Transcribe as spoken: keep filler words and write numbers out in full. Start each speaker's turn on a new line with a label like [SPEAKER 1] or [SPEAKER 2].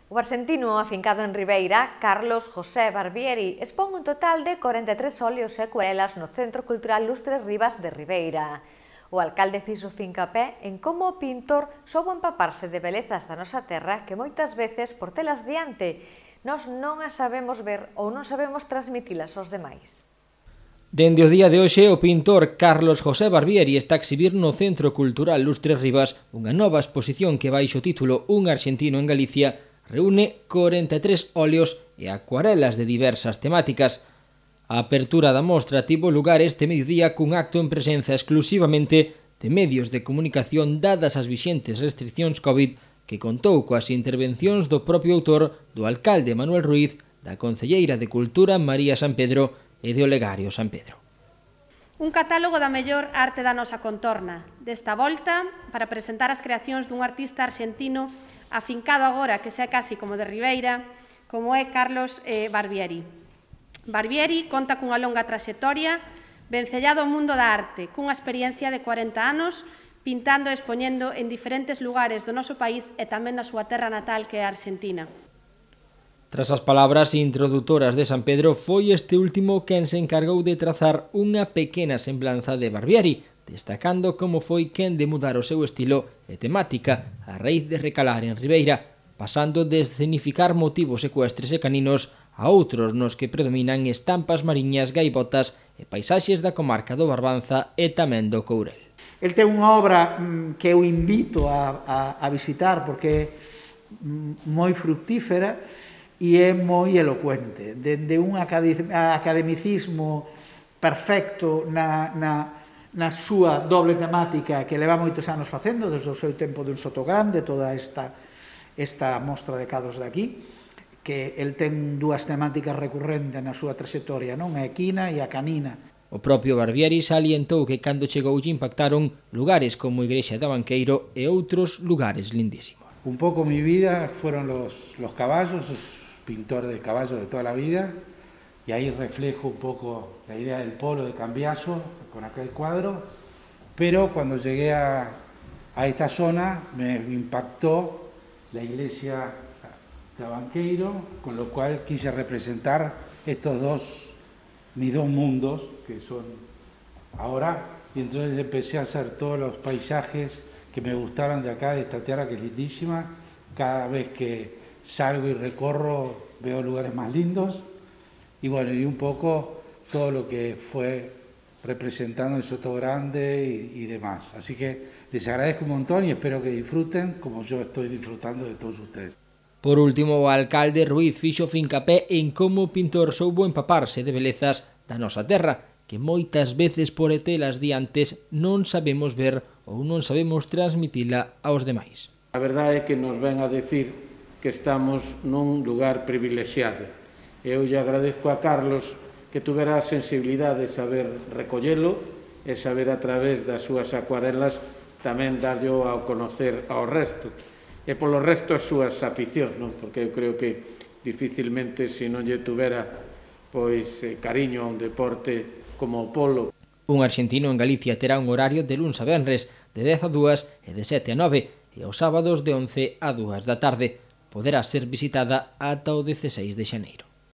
[SPEAKER 1] O arxentino afincado en Ribeira, Carlos José Barbieri, expón un total de corenta e tres óleos e acuarelas no Centro Cultural Lustres Rivas de Ribeira. O alcalde fixo fincapé en como o pintor soubo empaparse de belezas da nosa terra que moitas veces, por telas diante, nós non as sabemos ver ou non sabemos transmitilas aos demais.
[SPEAKER 2] Dende o día de hoxe, o pintor Carlos José Barbieri está a exhibir no Centro Cultural Lustres Rivas unha nova exposición que baixo o título Un arxentino en Galicia reúne corenta e tres óleos e acuarelas de diversas temáticas. A apertura da mostra tivo lugar este mediodía cun acto en presenza exclusivamente de medios de comunicación dadas as vixentes restriccións COVID que contou coas intervencións do propio autor, do alcalde Manuel Ruiz, da concelleira de Cultura María San Pedro e de Olegario San Pedro.
[SPEAKER 3] Un catálogo da mellor arte da nosa contorna. Desta volta, para presentar as creacións dun artista arxentino afincado agora, que xa casi como de Ribeira, como é Carlos eh, Barbieri. Barbieri conta cunha longa traxectoria, vencellado ao mundo da arte, cunha experiencia de corenta anos, pintando e expoñendo en diferentes lugares do noso país e tamén na súa terra natal, que é a Argentina.
[SPEAKER 2] Tras as palabras introdutoras de San Pedro, foi este último quen se encargou de trazar unha pequena semblanza de Barbieri, destacando como foi quen de mudar o seu estilo e temática a raíz de recalar en Ribeira, pasando de escenificar motivos ecuestres e caninos a outros nos que predominan estampas mariñas, gaivotas e paisaxes da comarca do Barbanza e tamén do Courel.
[SPEAKER 4] El ten unha obra mm, que eu invito a, a, a visitar porque é mm, moi fructífera e é moi elocuente, dende un academicismo perfecto na, na, na súa doble temática que leva moitos anos facendo, desde o seu tempo dun Soto Grande, toda esta, esta mostra de cadros de aquí, que el ten dúas temáticas recurrentes na súa trayectoria, non? A equina e a canina.
[SPEAKER 2] O propio Barbieri salientou que cando chegou lle impactaron lugares como a Igrexa de Abanqueiro e outros lugares lindísimos.
[SPEAKER 5] Un pouco mi vida fueron los, los caballos, pintor de caballos de toda la vida, y ahí reflejo un poco la idea del polo de Cambiaso con aquel cuadro, pero cuando llegué a, a esta zona me impactó la iglesia de Abanqueiro, con lo cual quise representar estos dos, mis dos mundos, que son ahora, y entonces empecé a hacer todos los paisajes que me gustaron de acá, de esta tierra que es lindísima. Cada vez que salgo y recorro veo lugares más lindos, y bueno, y un poco todo lo que fue representando el Soto Grande y, y demás. Así que les agradezco un montón y espero que disfruten como yo estoy disfrutando de todos ustedes.
[SPEAKER 2] Por último, o alcalde Ruiz fixo fincapé en como o pintor soubo empaparse de belezas da nosa terra, que moitas veces por etelas diantes non sabemos ver ou non sabemos transmitila aos demais.
[SPEAKER 6] A verdade é que nos ven a decir que estamos nun lugar privilexiado. Eu lle agradezco a Carlos que tuvera a sensibilidade de saber recollelo e saber a través das súas acuarelas tamén darlo ao conocer ao resto. E polo resto as súas aficións, non? Porque eu creo que dificilmente se non lle tuvera pois cariño a un deporte como o polo.
[SPEAKER 2] Un arxentino en Galicia terá un horario de luns a venres de dez a dúas e de sete a nove e aos sábados de once a dúas da tarde. Poderá ser visitada ata o dezasseis de xaneiro.